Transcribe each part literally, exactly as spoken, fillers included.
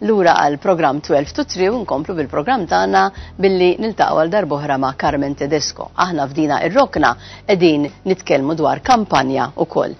Lura għal programm twelve to three u nkomplu bil-programm tagħna billi niltaqgħu għal darb'oħra ma' Carmen Tedesco. Aħna f'dina ir-rokna qegħdin nitkellmu dwar kampanja wkoll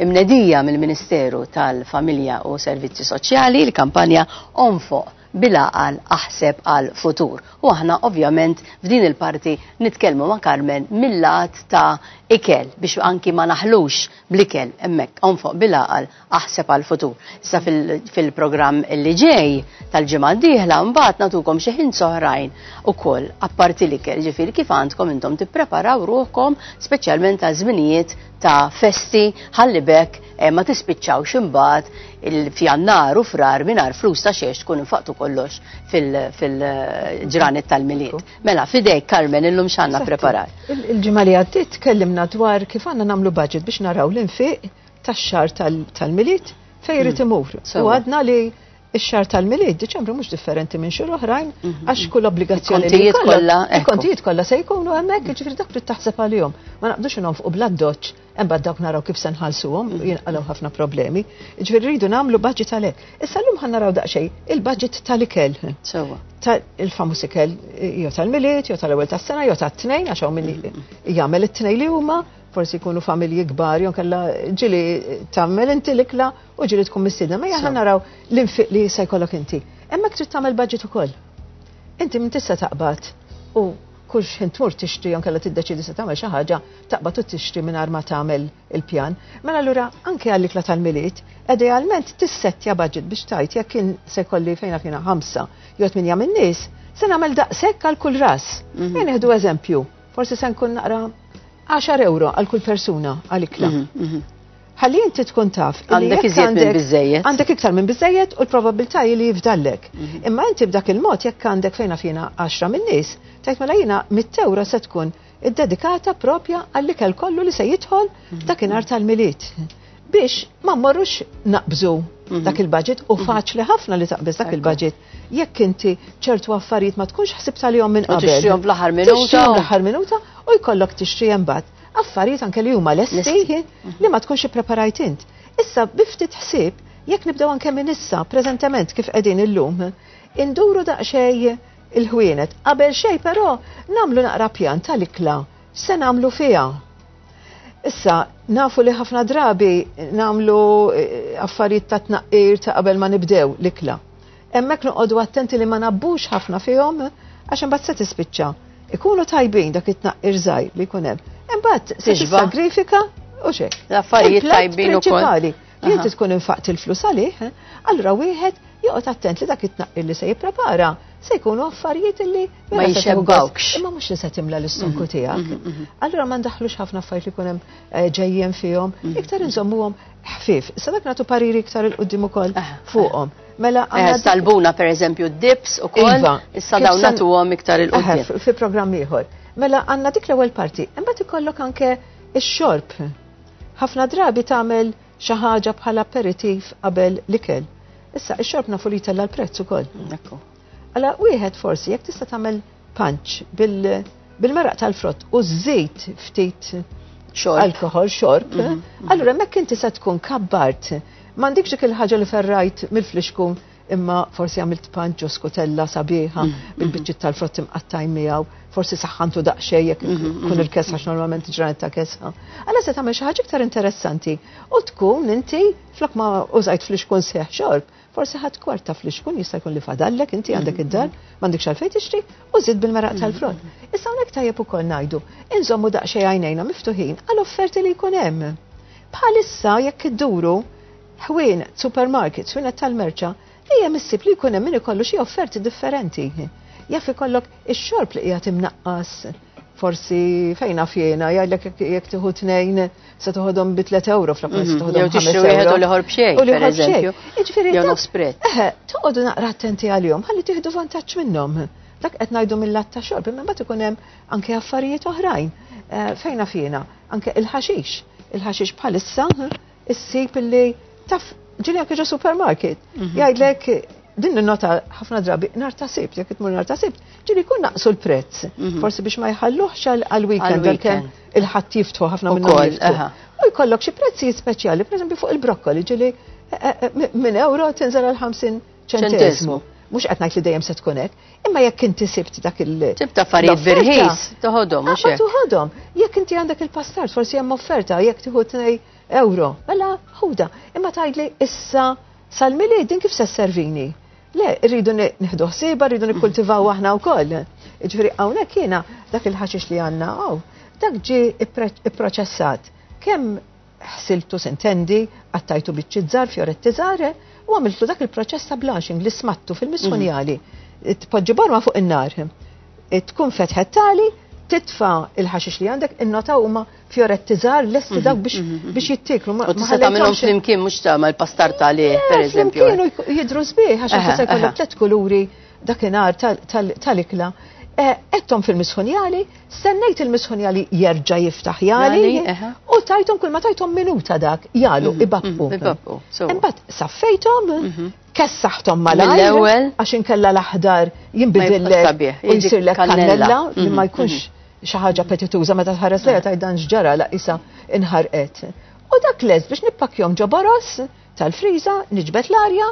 imnedija mill-Ministeru tal-Familja u Servizzi Soċjali, il-kampanja Onfoq bil-għaqal, aħseb għal futur. U aħna ovvjament f'din il-parti nitkellmu ma' Carmen mill-lat ta' ikel biex anki ma naħlux bl-ikel hemmhekk, onfoq bil-għaqal, aħseb għal futur. Issa fil-programm li ġej tal-ġimgħa d-dieħla mbagħad nagħtukom xi ħin oħrajn ukoll apparti l-ikel, ġifieri kif għandkom intom tippreparaw ruħkom speċjalment għal żminijiet ta' festi ħalli bekk eh, ma tispiċċawx imbagħad il-fjannar u frar mingħajr flus ta' xiex tkun infaqtu kollox fil-ġranet tal-Milied. Mela, fidejk Carmen, illum x'għandna preparat? Il-ġimgħa li għaddiet tkellimna dwar kif għandna nagħmlu budget biex naraw l-infiq tax-xahar tal-Milied fejn irid imur. U għadna li ix-xahar tal-Milied, Diċembru, mhux differenti minn xhur oħrajn, għax kull obbligazzjoni li kollha, il-kontijiet kollha se jkunu hemmhekk, jiġifieri dak trid taħseb għalihom. Ma naqbdux nonfqu bl-addoċċ, imbagħad dawk naraw kif se nħallsuhom, jinqalgħu ħafna problemi. Jiġifieri rridu nagħmlu budget għalhekk. Issa llum ħa naraw daqsxejn il-budget tal-ikel. Sewwa. Il-famuż ikel jew tal-Milied, jew tal-ewwel tas-sena, jew tat-Tnejn, għax hawn min jagħmel it-tnejn li huma, forsi jkunu familji kbar, jew kella ġieli tagħmel inti l-ikla u ġieli tkun mistiedna. Ma aħna naraw l-infiq li se jkollok inti. Hemmhekk trid tagħmel budget ukoll. Inti minn tista' taqbad u kull xħin tmur tixtri jew kella tiddeċidi se tagħmel xi ħaġa, taqbad u tixtri mingħajr ma tagħmel il-pjan. Mela allura anke għall-ikla tal-Milied, idealment tissettja budget biex tgħid jekk kien se jkolli fejna fina ħamsa jew tminja min-nies, se nagħmel daqshekk għal kull ras. Mhm. Ejja nieħdu eżempju, forsi se nkun naqra għaxar euro għal kull persuna għal ikla. Mhm, mhm. Ħalli inti tkun taf illi Għandek jekk iżjed minn għandek- biżejjed. Għandek iktar minn biżejjed u l-probabilità hi li jifdallek. Imma inti b'dak il-mod jekk għandek fejna fina għaxra minn nies, tgħid mela jiena mitt euro se tkun iddedikata propja għall-ikel kollu li se jidħol dakinhar tal-Milied. Biex ma mmorrux naqbżu dak il-budget, u faċli ħafna li taqbeż dak il-budget. Jekk inti ċertu affarijiet ma tkunx ħsibt għalihom minn U qabel. tixtrihom fl-aħħar minuta. Tixtrihom fl-aħħar minuta u jkollok tixtri imbagħad affarijiet anke li huma lesti Lesti. li ma tkunx ippreparajt int. Issa biftit ħsieb, jekk nibdew anke minn issa, preżentement kif qegħdin illum, induru daqsxejn il-ħwienet. Qabel xejn però nagħmlu naqra pjan tal-ikla se nagħmlu fiha. Issa, nafu li ħafna drabi nagħmlu eh, affarijiet ta' tnaqqir ta' qabel ma nibdew l-ikla. Hemmhekk noqogħdu attenti li ma nabbux ħafna fihom għax imbagħad se tispiċċa. Ikunu tajbin dak it-tnaqqir żgħir li jkun hemm. Imbagħad se Tixba'. tissagrifika u xejn. L-affarijiet Il-platt tajbin ukoll. prinċipali li inti Aha. tkun infaqt il-flus għalih, eh, allura wieħed joqgħod attent li dak it-tnaqqir li se jipprepara se jkunu affarijiet li Ma vera se tieħu gost, jxebbawkx. imma mhux li se timla l-istonku tiegħek. Allura ma ndaħlux ħafna affarijiet li jkun hemm eh, ġejjin fihom, iktar inżommuhom ħfief. Issa dak nagħtu pariri iktar 'il quddiem ukoll Aha, fuqhom. Mela Eh, għandna Talbuna per eżempju dips u koll, Iva. issa Kif dawn sen- nagħtuhom iktar Eħe, 'il quddiem. fi fi programm ieħor. Mela għandna dik l-ewwel parti, imbagħad ikollok anke ix-xorb. Ħafna drabi tagħmel xi ħaġa bħala aperitif qabel l-ikel. Issa ix-xorb nafu li jtella' l-prezz ukoll. Ekku. Alla wieħed forsi jekk tista' tagħmel punch bil- bil-meraq tal-frott u żżid ftit Xorb. alkohol, xorb, allura hemmhekk inti se tkun kabbart. M'għandikx dik il-ħaġa li ferrajt mill-flixkun, imma forsi għamilt punch u skutella sabiħa bil-biċċiet tal-frott imqattajn miegħu, forsi saħħantu daqsxejn jekk kun il-kesħa, għax normalment ġranet ta' kesħa. Alla se tagħmel xi ħaġa iktar interessanti u tkun inti flok ma użajt flixkun sħiħ xorb, forsi ħadd kwarta flixkun jista' jkun li fadallek inti għandek id-dar, m'għandekx għalfejn tixtri, u żid bil-meraq tal-frott. Issa hawnhekk tajjeb ukoll ngħidu, inżommu daqsxejn għajnejna miftuħin għal offerti li jkun hemm. Bħalissa jekk idduru ħwienet, supermarkets, ħwienet tal-merċa, dejjem issib li jkun hemm min ikollu xi offerti differenti. Jaf ikollok ix-xorb li qiegħed imnaqqas, forsi fejna fjena, jgħidlek jekk jekk tieħu tnejn se toħodhom bi tliet euro flok ma se Mhm. toħodhom Jew tixtri ħames wieħed euro. u l-ieħor b'xejn, U l-ieħor per eżempju. b'xejn. Jiġifieri Jew dak- nofs prezz. Eħe, toqgħodu naqra attenti għalihom, ħalli tieħdu vantaġġ minnhom. Dak qed ngħidu mill-lat ta' xorb, imma mbagħad ikun hemm anke affarijiet oħrajn. Eh, Fejna fjena, anke il-ħaxix. Il-ħaxix bħalissa issib illi taf ġieli anke ġo supermarket. Mhm. Jgħidlek din nota ħafna drabi nhar ta' Sibt, jekk tmur nhar ta' Sibt, ġieli jkun naqsu l-prezz. Mhm. Forsi biex ma jħalluhx għal-weekend, Għal-weekend. għalkemm il-Ħadd jiftħu, ħafna minnhom Ukoll, jiftħu. aha. U jkollok xi prezzijiet speċjali, pereżempju fuq il-brokkoli, ġieli eh, eh, minn euro tinżel għal ħamsin ċentesmu. Mhux qed ngħid li dejjem se tkun hekk, imma jekk inti sibt dak il- Tip ta' affarijiet birħis, toħodhom, mhux hekk. Toħodhom. Jekk inti għandek il-pastard, forsi hemm offerta, jekk tieħu tnej euro, mela ħuda. Imma tgħidli issa sal-Milied din kif se sservini? Le, rridu nieħdu ħsieba, rridu nikkultivaw aħna wkoll. Ġifieri hawnhekk jiena dak il-ħaxix li għandna hawn, dak ġie ipproċessat. Kemm ħsiltu sintendi, qattajtu biċċiet żgħar, fjoretti żgħar, u għamiltu dak il-proċess ta' blanching li smattu fil-misħunjali. Tpoġġi borma fuq in-nar. Tkun fetħet tali, titfa il-ħaxix li għandek, innota huma fjoretti żgħar lesti dawk biex biex jittieklu. U tista' tagħmilhom flimkien mhux tagħmel pastar tali, pereżempju. Flimkien jidhru sbieħ għax tista' jkollok tliet kuluri dakinhar tal-ikla. Għedthom fil-misħunjali, stennejt il-misħunjali jerġa' jiftaħ jali, u tajthom kull ma tajthom minuta dak, jalu, ibabbu. Imbagħad saffejthom, kessaħthom malajr, għax inkella l-aħdar jinbidillek u jsirlek kannella li ma jkunx xi ħaġa appetituża meta tħares lejha tgħid dan x'ġara la isa inħarqet. U dak lest biex nippakkjahom ġo boros tal-friża, niġbed l-arja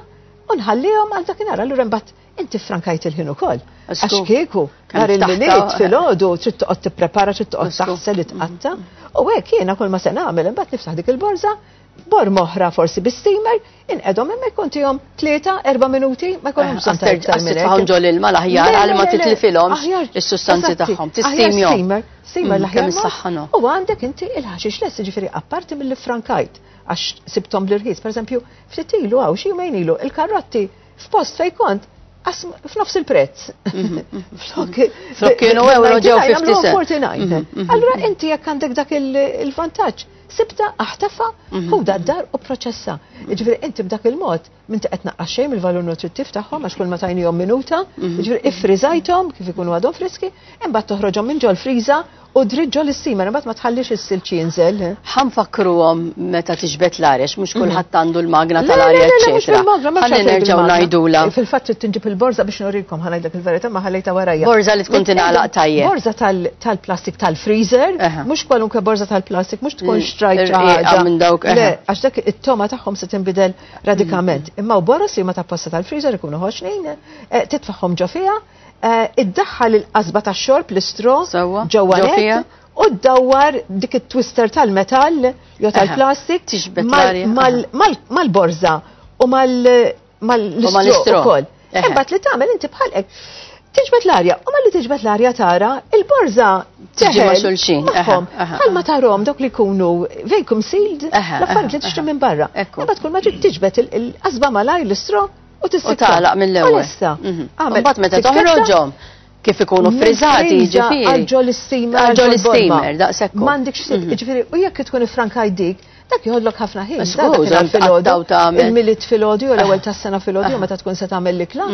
u nħallihom għal dakinhar. Allura imbagħad inti frankajt il-ħin ukoll. Għax kieku, nhar il-Milied filgħodu trid toqgħod tipprepara, trid toqgħod taħsel tqatta. U hekk jiena kull ma se nagħmel imbagħad niftaħ dik il-borża, borma oħra forsi bi-steamer, inqegħdhom hemmhekk kontihom tlieta, erba' minuti, ma jkollhom bżonn ta' iktar minn hekk. Ġol ilma l-aħjar għal ma titlifilhomx is-sustanzi tagħhom. Tistimjhom. Steamer, steamer l-aħjar. U għandek inti il-ħaxix lest, ġifieri apparti mill frankajt għax sibthom bl-irħis. Per eżempju, ftit ilu hawn xi jumejn ilu il-karrotti f'post fejn kont f'nofs il-prezz. Flok kienu euro ġew fifty. Allura inti jekk għandek dak il-vantaġġ, sibta aħtafa, ħuda d-dar u proċessa. Ġifieri inti b'dak il-mod m'inti qed naqqas xejn il-valur nutrittiv tagħhom għax kull ma tajnihom minuta, ġifieri iffriżajthom kif ikunu għadhom friski, imbagħad toħroġhom minn ġol-friża u dritt ġol steamer, imbagħad ma tħallix is-silġ jinżel. Ħa nfakkruhom meta tiġbed l-arja, mhux kulħadd għandu l-magna tal-arja, eċetera. Ħalli nerġgħu ngħidula. Fil-fatt trid tinġib il-borża biex nurikom, ħa ngħidlek il-verità ma ħallejta warajja. Borża li tkun tingħalaq tajjeb. Borża tal-plastik tal-freezer, mhux kwalunkwe borża tal-plastik, mhux tkun xtrajt ħaġa. Le, għax dak it-togħma tagħhom se tinbidel radikament. Imma u boros li ma tapposta tal-freezer ikunu ħoxnin, titfaħħom ġo fiha, iddaħħal il-qasba tax-xorb l-straw ġewwa u ddawwar dik it-twister tal-metall jew tal-plastik mal-borża u mal-istraw ukoll. Imbagħad li tagħmel inti bħal hekk tiġbed l-arja, u malli tiġbed l-arja tara il-borża tiġi ma' xulxin. Bħal ma tarahom dawk li jkunu vacuum sealed, l-affarijiet li tixtri minn barra. Imbagħad kull ma trid tiġbed il-qasba malajr l-straw u tagħlaq mill-ewwel. Imbagħad meta toħroġhom kif ikunu friżati, ġifieri. Għal ġol-steamer. Għal ġol-steamer, daqshekk. M'għandekx ġifieri, u jekk tkun ifrankajt dik, dak joħodlok ħafna ħin. Il-Milied filgħodu u l-ewwel tas-sena filgħodu meta tkun se tagħmel l-ikla.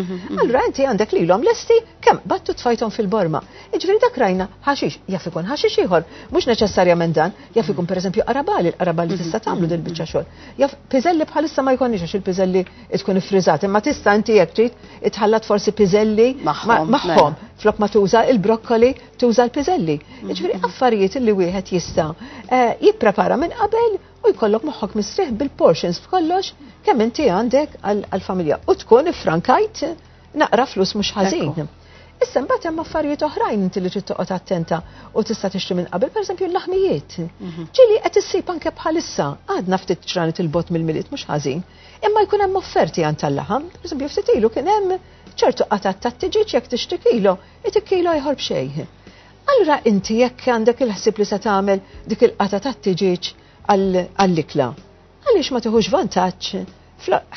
Allura inti għandek lilhom lesti kemm battu tfajthom fil-borma. Jiġifieri dak rajna ħaxix, jaf ikun ħaxix ieħor, mhux neċessarjament dan, jaf ikun pereżempju qarabali, l-qarabali tista' tagħmlu dil biċċa xogħol. Jaf piżelli bħalissa ma jkollniex għax il-piżelli tkun iffriżat, imma tista' inti jekk trid itħallat forsi piżelli magħhom. Flok ma tuża il-brokkoli, tuża l-piżelli. Jiġifieri affarijiet li wieħed jista' jipprepara minn qabel u jkollok moħħok mistrieħ bil-portions b'kollox kemm inti għandek għall-familja u tkun ifrankajt naqra flus mhux ħażin. Issa mbagħad hemm affarijiet oħrajn inti li trid toqgħod attenta u tista' tixtri minn qabel, pereżempju l-laħmijiet. Ġieli qed issib anke bħalissa għadna ftit ġranet il-bot mill-Milied mhux ħażin, imma jkun hemm offerti għand tal-laħam. Pereżempju ftit ilu kien hemm ċertu qatat tat-tiġiġ jekk tixtri kilo, itik kilo ieħor b'xejn. Allura inti jekk għandek il-ħsieb li se tagħmel dik il-qata tat-tiġiġ għall-ikla, għaliex ma tieħux vantaġġ?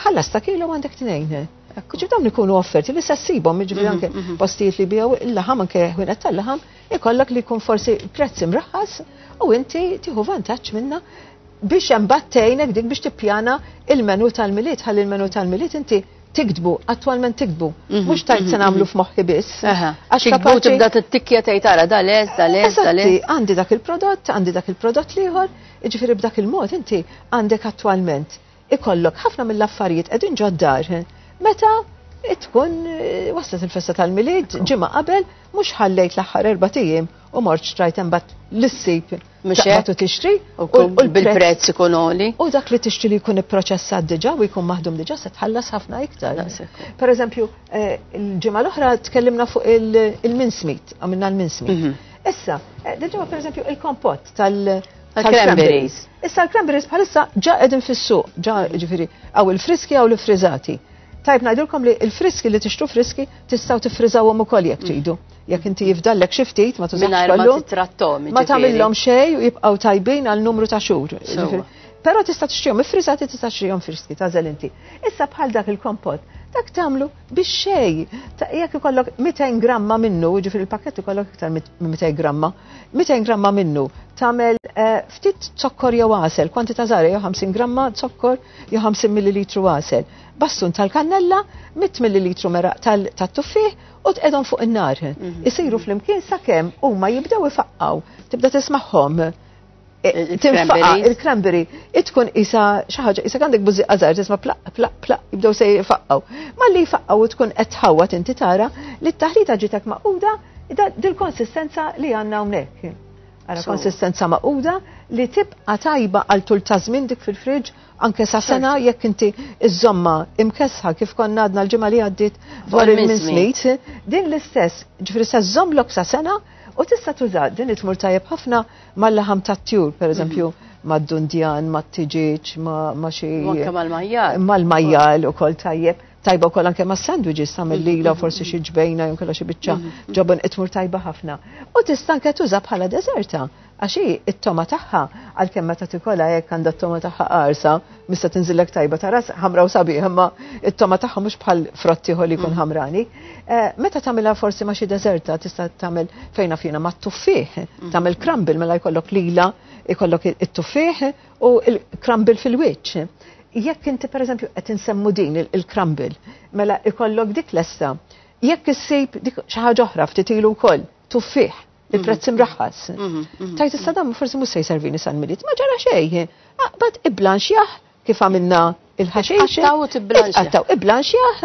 Ħallas ta' kilo għandek tnejn. Ġifieri dawn ikunu offerti li se ssibhom, jiġifieri anke postijiet li biegħu il-laħam, anke ħwienet tal-laħam, ikollok li jkun forsi prezz imraħħas u inti tieħu vantaġġ minna biex imbagħad tgħinek dik biex tippjana il-menu tal-Milied, ħalli il-menu tal-Milied inti tiktbu, attwalment tiktbu, mhux tajt se nagħmlu f'moħħi biss. Għax kapaċi tibda tittikkja tgħid tara da les, da les, da les. Għandi dak il-prodott, għandi dak il-prodott l-ieħor, jiġifieri b'dak il-mod inti għandek attwalment ikollok ħafna mill-affarijiet qegħdin ġod-dar. Meta Tkun waslet il-festa tal-Milied ġimgħa qabel, mhux ħallejt l-aħħar erbat ijiem u mort xtrajt imbagħad l-issib taqbad u tixtri u bil-prezz ikun għoli. U dak li tixtri li jkun ipproċessat diġà u jkun maħdum diġà se tħallas ħafna iktar. Per eżempju, il-ġimgħa l-oħra tkellimna fuq il-mincemeat, għamilna l-mincemeat. Issa, dil-ġimgħa per eżempju il-kompott tal- tal-cranberries. Issa l-cranberries bħalissa ġa qegħdin fis-suq, ġa ġifieri hawn il-friski hawn l-friżati. Tajb ngħidulkom li l-friski li tixtru friski tistgħu tiffriżawhom ukoll jekk tridu. Jekk inti jifdallek xi ftit ma tużax kollu. Ma tagħmilhom xejn u jibqgħu tajbin għal numru ta' xhur. Però tista' tixtrihom iffriżati, tista' tixtrihom friski, tagħżel inti. Issa bħal dak il-kompott, dak tagħmlu biex xejn. Jekk ikollok mitejn gramma minnu, ġifieri il-pakkett ikollok iktar minn mitejn gramma, mitejn gramma minnu tagħmel ftit zokkor jew għasel, kwantità żgħira jew ħamsin gramma zokkor jew ħamsin millilitru għasel. Bastun tal-kannella, mitt millilitru meraq tat-tuffieħ u tqegħdhom fuq in-nar. Isiru flimkien sakemm huma jibdew ifaqqaw, tibda tismagħhom. Tinfaqa il-cranberry, tkun isa xi ħaġa, isa għandek bużieqa żgħar tisma' plaq plaq plaq jibdew se jfaqqaw. Malli jfaqqaw u tkun qed tħawwat inti tara li t-taħlita ġitek maquda dil-konsistenza li għandna hawnhekk. Ara konsistenza maquda li tibqa' tajba għal tul ta' żmien dik fil-friġġ anke sa sena jekk inti iżomma imkesħa kif konna għadna l-ġimgħa li għaddiet dwar il-mincemeat, din l-istess, ġifieri se żżommlok sa sena u tista' tuża din li tmur tajjeb ħafna mal-laħam tat-tjur, pereżempju mad-dundjan, mat-tiġieġ, ma' xi. Anke mal-majjal. Mal-majjal ukoll tajjeb. Tajba wkoll anke ma' sandwiches tagħmel lila forsi xi ġbejna jew kellha xi biċċa ġobon itmur tajba ħafna. U tista' anke tuża bħala deżerta għax hi it-toma tagħha għalkemm meta tikolha hekk għandha t-toma tagħha qarsa, mista tinżillek tajba ta' ras ħamra u sabiħ, imma it-toma tagħha mhux bħal frott ieħor li jkun ħamrani. Meta tagħmilha forsi ma' xi deżerta tista' tagħmel fejna fina mat-tuffieħ, tagħmel crumble mela jkollok lila, jkollok it-tuffieħ u l-crumble fil-wiċċ. Jekk inti per eżempju qed insemmu din il-crumble, mela ikollok dik lesta. Jekk issib dik xi ħaġa oħra ftit ilu wkoll, tuffieħ, il-prezz imraħħas. Tajt issa dan forsi mhux se jservini sal-Milied, ma ġara xejn. Aqbad iblanxjah kif għamilna il-ħaxix. Qattaw u tiblanxjah. Qattaw iblanxjah,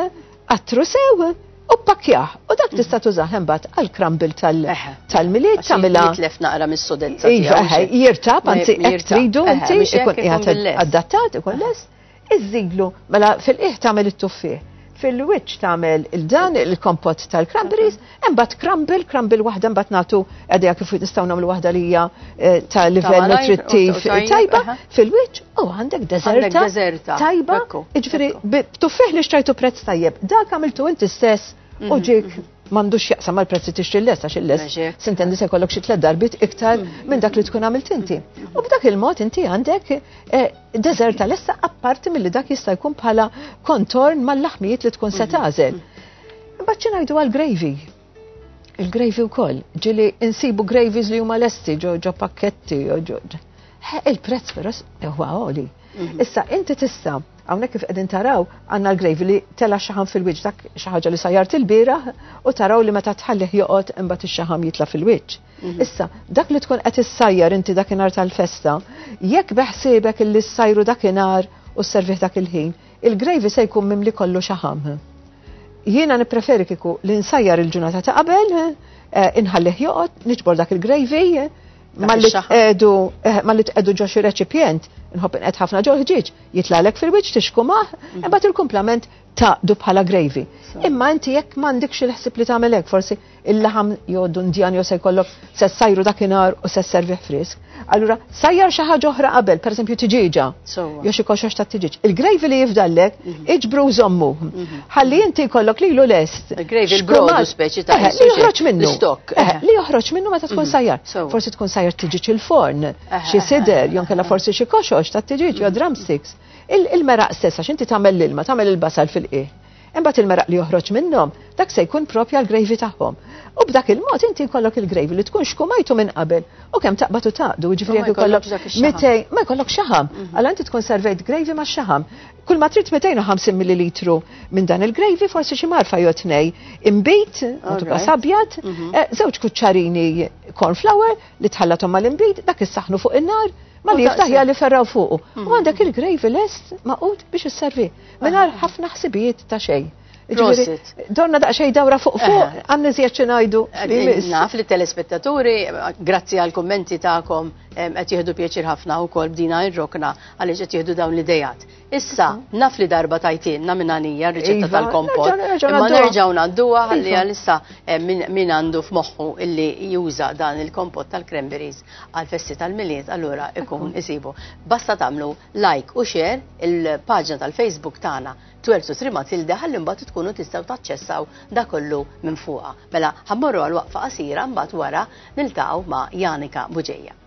qattru sew u pakkjah. U dak tista' tużah imbagħad għall-crumble tal-Milied tagħmilha. Jitlef naqra mis-sodezza tiegħu. Jirtab, anzi hekk tridu inti ikun qiegħed adattat, ikun lest. Iżżidlu, mela fil-qiegħ tagħmel it-tuffieħ, fil-wiċċ tagħmel il-dan il-kompott tal-cranberries, imbagħad crumble, crumble waħda mbagħad nagħtu għadha kif nistgħu nagħmlu waħda li hija ta' livell nutrittiv tajba fil-wiċċ u għandek deżerta tajba, jiġifieri b'tuffieħ li xtrajtu prezz tajjeb, dak għamiltu inti stess u ġiek m'għandux jaqsam mal-prezz li tixtri l-lest għax il-lest sintendi se jkollok xi tliet darbiet iktar minn dak li tkun għamilt inti. U b'dak il-mod inti għandek deżerta lesta apparti milli dak jista' jkun bħala kontorn mal-laħmijiet li tkun se tagħżel. Imbagħad xi ngħidu għall-gravy? Il-gravy wkoll, ġieli insibu gravies li huma lesti ġo ġo pakketti ġo il-prezz però huwa għoli. Issa inti tista' hawnhekk kif qegħdin taraw għandna l-gravy li tela xaħam fil-wiċċ, dak xi ħaġa li sajjart il-bieraħ u taraw li meta tħallih joqgħod imbagħad ix-xaħam jitla' fil-wiċċ. Issa dak li tkun qed issajjar inti dakinhar tal-festa, jekk beħsiebek illi ssajru dakinhar u sservih dak il-ħin, il-gravy se jkun mimli kollu xaħam. Jiena nippreferi kieku li nsajjar il-ġurnata ta' qabel, inħallih joqgħod, niġbor dak il-gravy, malli tqedu malli tqedu ġo xi reċipjent, nħobb inqed ħafna ġo ħġieġ, jitlagħlek fil-wiċċ tixkumah, imbagħad il-kumplament taqdu bħala gravy. Imma inti jekk m'għandekx il-ħsieb li tagħmel hekk, forsi il-laħam jew dundjan jew se jkollok se ssajru dakinhar u se sservih frisk. Allura sajjar xi ħaġa oħra qabel, pereżempju tiġieġa. Jew xi koxox ta' tiġieġ. Il-gravy li jifdallek iġbru żommu. Ħalli inti jkollok lilu lest. Il-gravy il-brodu speċi ta' li joħroġ minnu. Li joħroġ minnu meta tkun sajjar. Forsi tkun sajjar tiġieġ il-forn, xi sider, jew kellha forsi xi koxox ta' tiġieġ jew drumsticks. Il-meraq stess, għax inti tagħmel l-ilma, tagħmel il-basal fil-qiegħ. Imbagħad il-meraq li joħroġ minnhom, dak se jkun propja l-gravy tagħhom. U b'dak il-mod inti jkollok il-gravy li tkun xkumajtu minn qabel u kemm taqbad u taqdu, jiġifieri jekk ikollok mitejn, ma jkollok xaħam. Allura inti tkun servejt gravy ma' xaħam. Kull ma trid mitejn u ħamsin millilitru minn dan il-gravy, forsi xi marfa jew tnej imbit, tibqa' sabjad, żewġ kuċċarini corn flour li tħallathom mal-imbit, dak issaħnu fuq in-nar, ma li jiftaħ li ferraw fuqu. U għandek il-gravy lest maqud biex isservi. Mingħajr ħafna ħsibijiet ta' xejn. Prosit. Donna daqsxejn dawra fuq fuq, għandna iżjed xi ngħidu. Naf li telespettaturi, grazzi għal kummenti tagħkom, qed jieħdu pjaċir ħafna wkoll b'dina ir-rokna għaliex qed jieħdu dawn l-idejat. Issa, naf li darba tajtilna minn għalija r-riċetta Iva, tal-kompot, nerġa' imma nerġgħu ngħadduha ħalli Iva. għalissa min għandu f'moħħu illi juża dan il-kompot tal-cranberries għal-festi tal-Milied, allura ikun isibu. Basta tagħmlu like u share il-paġna tal-Facebook tagħna twelve to three Matilda ħalli mbagħad tkunu tistgħu taċċessaw da kollu minn fuqha. Mela ħa mmorru għal waqfa qasira, mbagħad wara niltaqgħu ma' Janika Bugeja.